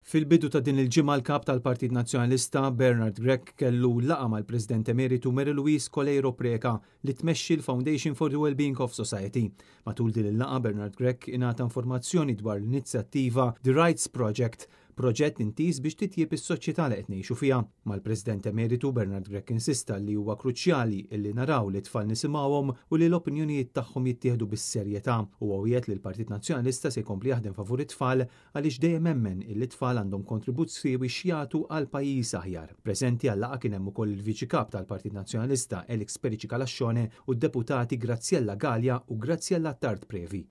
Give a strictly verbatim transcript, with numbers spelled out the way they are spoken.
Fil-bidu ta' din il-ġimgħa, l-kap tal-Partit Nazzjonalista Bernard Grech kellu laqgħa mal-President Emeritu Mary Louise Coleiro Preca, li tmexxi l-Foundation for the Wellbeing of Society. Matul din il-laqgħa, Bernard Grech ingħata informazzjoni dwar l-inizjattiva The Rights Project, proġett intiż biex titjieb is-soċjetà li qed ngħixu fiha. Mal-President Emeritu, Bernard Grech insista li huwa kruċjali illi naraw li tfal nisimgħuhom u li l-opinjonijiet tagħhom jittieħdu bis-serjetà, u wiegħed li l-Partit Nazzjonalista se jkompli jaħdem favur it-tfal, għaliex dejjem emmen illi tfal għandhom kontribut siewi x'jagħtu għal pajjiż aħjar. Preżenti għal-laqgħa kien hemm ukoll il-Viċi Kap tal-Partit Nazzjonalista Alex Perici Calascione u d-deputati Graziella Galea u Graziella Attard Previ.